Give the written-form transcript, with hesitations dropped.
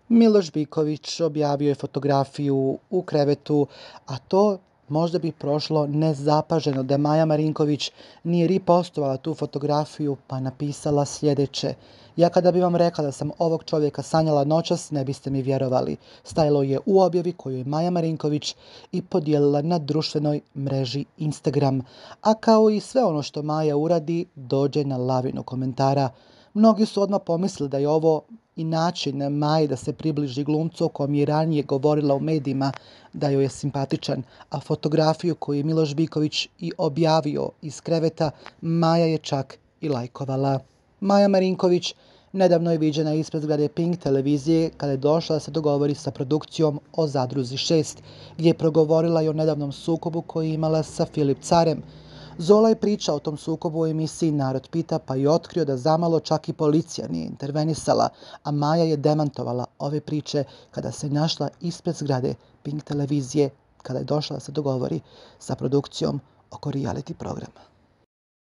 Miloš Biković objavio je fotografiju u krevetu, a to možda bi prošlo nezapaženo da Maja Marinković nije ripostovala tu fotografiju pa napisala sljedeće: ja kada bi vam rekla da sam ovog čovjeka sanjala noćas, ne biste mi vjerovali. Stajalo je u objavi koju je Maja Marinković i podijelila na društvenoj mreži Instagram. A kao i sve ono što Maja uradi, dođe na lavinu komentara. Mnogi su odmah pomislili da je ovo i način Maje da se približi glumcu o kojem je ranije govorila u medijima da joj je simpatičan, a fotografiju koju je Miloš Biković i objavio iz kreveta, Maja je čak i lajkovala. Maja Marinković nedavno je viđena ispred zgrade Pink televizije kada je došla da se dogovori sa produkcijom o Zadruzi 6, gdje je progovorila i o nedavnom sukobu koji je imala sa Filip Carem. Zola je pričao o tom sukobu u emisiji Narod pita, pa je otkrio da zamalo čak i policija nije intervenisala, a Maja je demantovala ove priče kada se našla ispred zgrade Pink televizije kada je došla da se dogovori sa produkcijom oko reality programa.